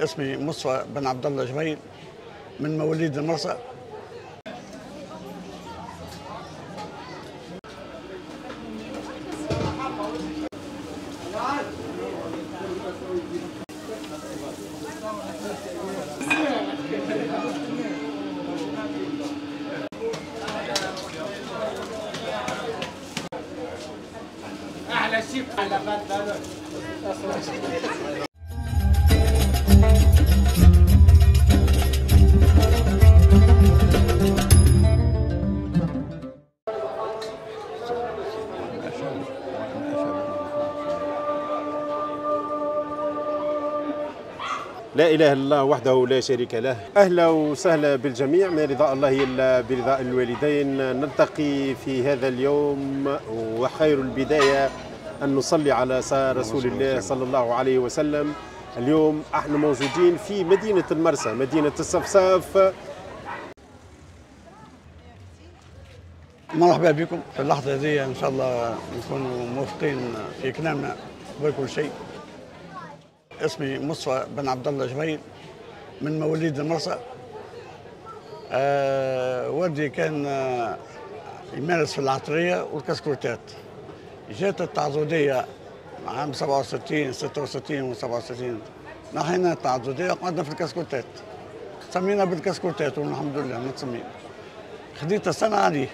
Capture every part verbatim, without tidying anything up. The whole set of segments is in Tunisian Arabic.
اسمي مصطفى بن عبد الله جبيل من مواليد المرسى. احلى شيء على فات. لا إله إلا الله وحده لا شريك له. أهلا وسهلا بالجميع، ما رضاء الله إلا برضاء الوالدين. نلتقي في هذا اليوم، وخير البداية أن نصلي على رسول الله صلى الله عليه وسلم. اليوم احنا موجودين في مدينة المرسى، مدينة الصفصاف. مرحبا بكم في اللحظة هذه، إن شاء الله نكونوا موفقين في كلامنا قبل كل شيء. اسمي مصطفى بن عبد الله جبيل من مواليد المرسى. أه والدي كان يمارس في العطريه والكسكروتات. جات التعاضديه عام سبعة وستين ستة وستين و سبعة وستين، نحينا التعاضديه وقعدنا في الكسكروتات، سمينا بالكسكروتات والحمد لله متسمين. خديت السنة عليه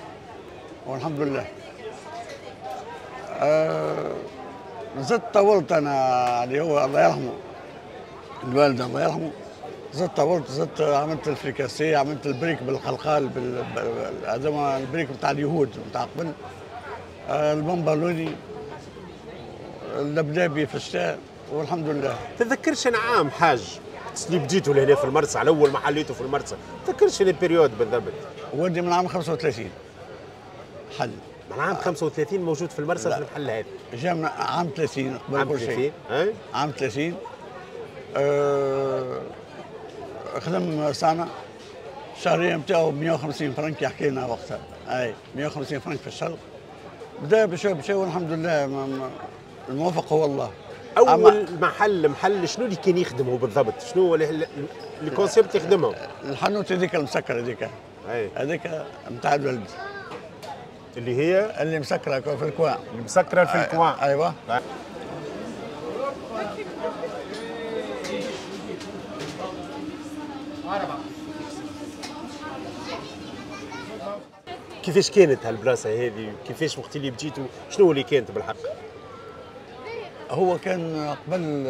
والحمد لله. أه زدت طولت انا اللي هو الله يرحمه الوالد الله يرحمه، زدت طولت، زدت عملت الفريكاسيه، عملت البريك بالخلخال، بال هذا البريك بتاع اليهود بتاع قبل، البمبالوني، اللبلابي في الشتاء والحمد لله. تذكرش انا عام حاج اللي بديتوا لهنا في المرسى، على اول ما حليته في المرسى، تذكرش ال période بالضبط؟ والدي من عام خمسة وثلاثين حل. من عام خمسة وثلاثين موجود في المرسى في المحل هذا؟ جا من عام ثلاثين قبل كل شيء. عام عام ثلاثين. أه خدم سنة، الشهرية نتاعو مئة وخمسين فرنك يحكي لنا وقتها، أي مئة وخمسين فرنك في الشهر. بدا بشوي بشوي والحمد لله، الموفق هو الله. أول محل محل شنو اللي كان يخدمه بالضبط؟ شنو هو ال concept يخدمه؟ الحانوت هذيك المسكرة هذيك. هذيك نتاع الولد. اللي هي اللي مسكره في ال coin. اللي مسكره في ال coin. ايوه. كيفاش كانت هالبلاصه هذه؟ كيفاش وقت اللي بديتوا شنو اللي كانت بالحق؟ هو كان قبل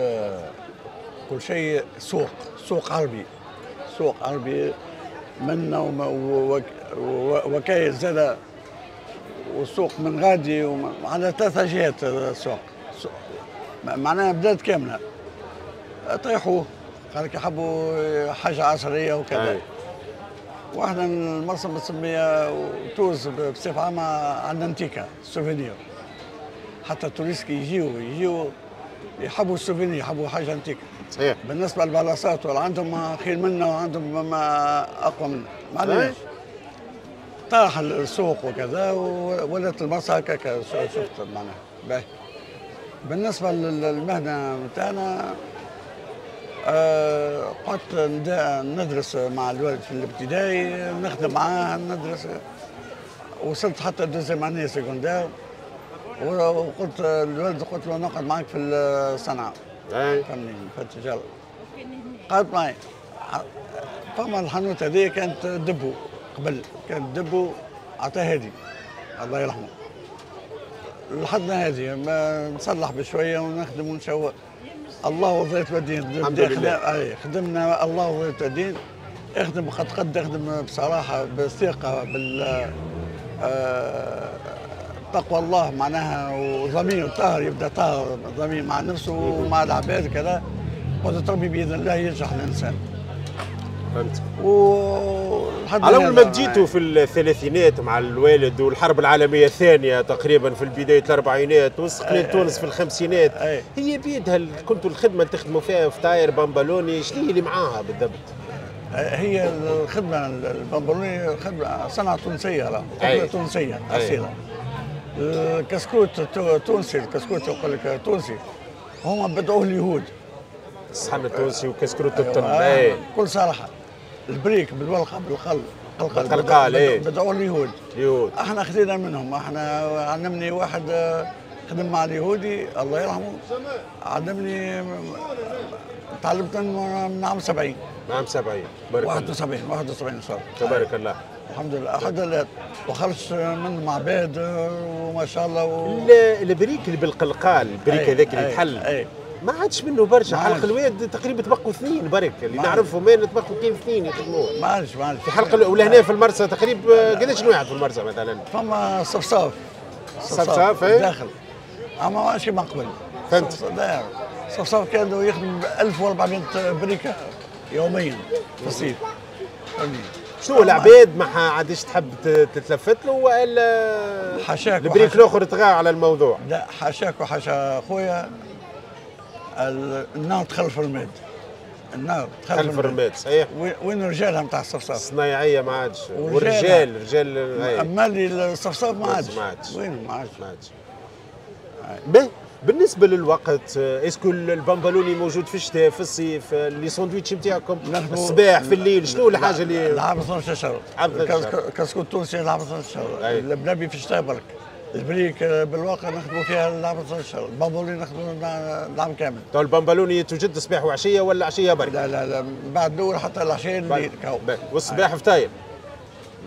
كل شيء سوق، سوق عربي، سوق عربي منا وكايل زاد، والسوق من غادي على ثلاثة جهات السوق، معناها بلاد كاملة. طيحوه، قال لك يحبوا حاجة عصرية وكذا. واحنا المرسى بنسميها وتونس بصفة عامة عندنا antique souvenir. حتى ال touristes كي يجيو يجيو يحبوا ال souvenir، يحبوا حاجة انتيكا. صحيح. بالنسبة للبلاصات عندهم خير منا وعندهم ما أقوى منا، ما عندناش. طاح السوق وكذا ولات المرسى هكاك شفت معناها. باهي. بالنسبة للمهنة نتاعنا، أه قعدت ندرس مع الوالد في الابتدائي، نخدم معاه ندرس، وصلت حتى deuxième année secondaire، وقلت للوالد قلت له نقعد معاك في الصنعة. فهمني في التجارة. قعدت معي. فما الحانوت هذه كانت dépôt قبل، كانت dépôt عطاها هادي الله يرحمه. لحدنا هذه ما نصلح بشوية ونخدم ونشوق. الله وظيفة الدين. الحمد لله. اي خدمنا الله وظيفة الدين. اخدم قد قد، اخدم بصراحة بثقة بال آه تقوى الله معناها، وضمير طاهر، يبدا طاهر ضمير مع نفسه ومع العباد كذا. قدرة ربي باذن الله ينجح الانسان. فهمت. و على اول ما بديتوا في الثلاثينات مع الوالد والحرب العالمية الثانية تقريبا في بداية الاربعينات واستقلال تونس في الخمسينات. أي. هي بيدها كنتوا الخدمة اللي تخدموا فيها فطاير بامبالوني، شنو هي اللي معاها بالضبط؟ هي الخدمة البامبالوني خدمة صنعه تونسية، راه خدمة تونسية اصيلة. الكسكروت تونسي، الكسكروت يقول لك تونسي، هما بدعوة اليهود. الصحن التونسي وكسكروت التن. أيوة. بكل صراحة البريك بالورقة بالقل بالقلقال ايه بدعوا اليهود. اليهود احنا خذينا منهم، احنا علمني واحد خدم مع اليهودي الله يرحمه، علمني تعلمت من عام سبعين. من عام سبعين بارك الله. واحد وسبعين واحد وسبعين صار. تبارك الله. الحمد لله الحمد لله وخرجت من معباد وما شاء الله و... البريك اللي بالقلقال، البريك هذاك اللي يتحل ما عادش منه برشا. حلق الواد تقريبا تبقوا اثنين برك اللي نعرفهم، ما تبقوا كيف اثنين يخدموه. ما عادش ما عادش في حلق. ولهنا في المرسى تقريبا قداش واحد في المرسى مثلا؟ فما صفصاف. صفصاف اي داخل، اما ما عادش كيما قبل. فهمت. صفصاف كانوا يخدم ألف وأربعمية بريكه يوميا في الصيف. فهمتني؟ شنو العباد ما عادش تحب تتلفت له والا حاشاك البريك الاخر طغى على الموضوع؟ لا حاشاك وحاشا خويا، النار تخلف الرماد. النار تخلف الرماد صحيح. وين رجالها نتاع الصفصاف؟ الصنايعيه ما عادش، والرجال رجال. اما اللي الصفصاف ما عادش. ما عادش وين ما عادش. ما عادش. باهي بالنسبة للوقت، est-ce que البامبالوني موجود في الشتاء في الصيف، les sandwichs نتاعكم الصباح في الليل، شنو الحاجة اللي؟ العام اثناش شهر. كسكوت التونسي العام اثناش شهر، اللبلابي في الشتاء برك، البريك بالواقع نخدموا فيها العام اثناش شهر، البامبالوني نخدموا العام كامل. تو البامبالوني توجد صباح وعشية ولا عشية برك؟ لا لا لا، بعد الاول حتى العشية الليل. والصباح فطاير؟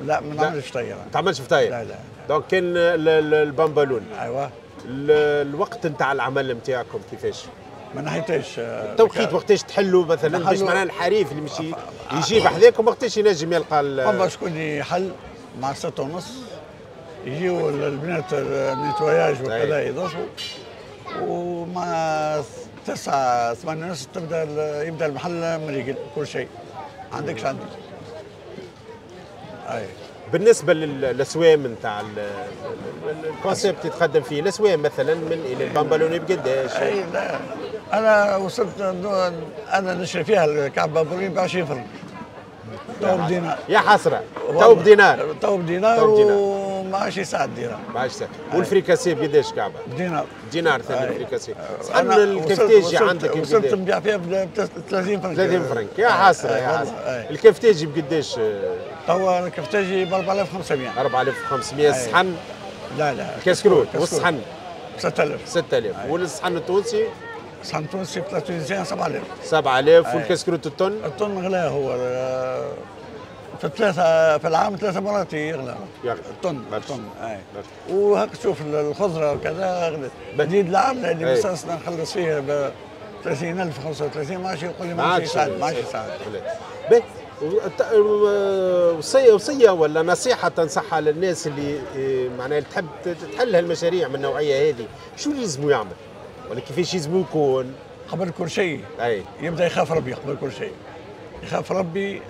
لا ما نعملش فطاير. ما تعملش فطاير؟ لا لا. donc كان البامبالوني. ايوه. الوقت نتاع العمل نتاعكم كيفاش؟ ما نحيتش التوقيت وقتاش تحلوا مثلا باش معناها الحريف اللي مشي يجيب حذاكم وقتاش ينجم يلقى؟ فما شكون يحل مع ستة ونص يجيو البنات ال nettoyage وكذا يضربوا، ومع تسعة ثمانية ونص تبدا يبدا المحل مريقل كل شيء. عندكش عندك. اي بالنسبة للاسوام نتاع ال concept اللي تخدم فيه، الاسوام مثلا من الى البامبالوني بقداش؟ اي لا انا وصلت انا نشري فيها الكعب بامبالوني ب عشرين فرنك. تو بدينار. يا حسرة تو بدينار. تو بدينار وما عادش يساعد دينار. ما عادش يساعد. والفريكاسي بقداش كعبه؟ بدينار. دينار ثاني الفريكاسي. صحن الكفتاجي عندك وصلت نبيع فيها ب ثلاثين فرنك. ثلاثين فرنك يا حسرة يا حسرة. الكفتاجي بقداش؟ توا الكفتاجي ب أربعة آلاف وخمسمية. أربعة آلاف وخمسمية الصحن؟ لا لا الكسكروت والصحن ستة آلاف. ستة آلاف. والصحن التونسي؟ الصحن التونسي plat tunisien سبعة آلاف. سبعة آلاف. والكسكروت التن؟ التن غلا هو في ثلاثة في العام ثلاثة مرات يغلى. يغلى الطن الطن اي. وهاك تشوف الخضرة وكذا غلت. جديد العام اللي مساسنا نخلص فيه ب ثلاثين ألف خمسة وثلاثين ما عادش يقول لي ما عادش يساعد ما عادش يساعد. باهي وصية وصية ولا نصيحة تنصحها للناس اللي معناها تحب تحل هالمشاريع من النوعية هذه، شو اللي يلزمو يعمل؟ ولا كيفاش يلزمو يكون؟ قبل كل شيء أي. يبدا يخاف ربي قبل كل شيء. يخاف ربي،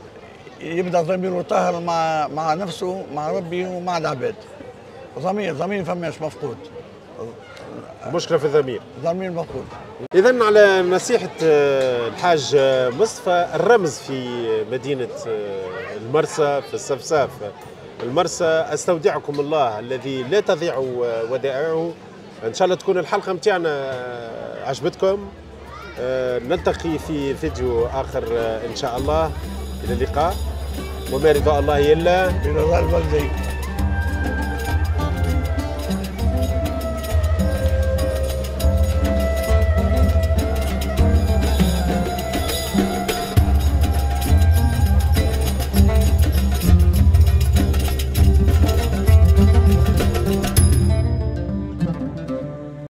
يبدا ضميره طاهر مع مع نفسه مع ربي ومع العباد. ضمير ضمير فماش مفقود. المشكلة في الضمير. ضمير مفقود. إذا على نصيحة الحاج مصطفى، الرمز في مدينة المرسى في الصفصاف المرسى، أستودعكم الله الذي لا تضيع ودائعه. إن شاء الله تكون الحلقة متاعنا عجبتكم. نلتقي في فيديو آخر إن شاء الله. إلى اللقاء، وما رضا الله إلا برضا الوالدين.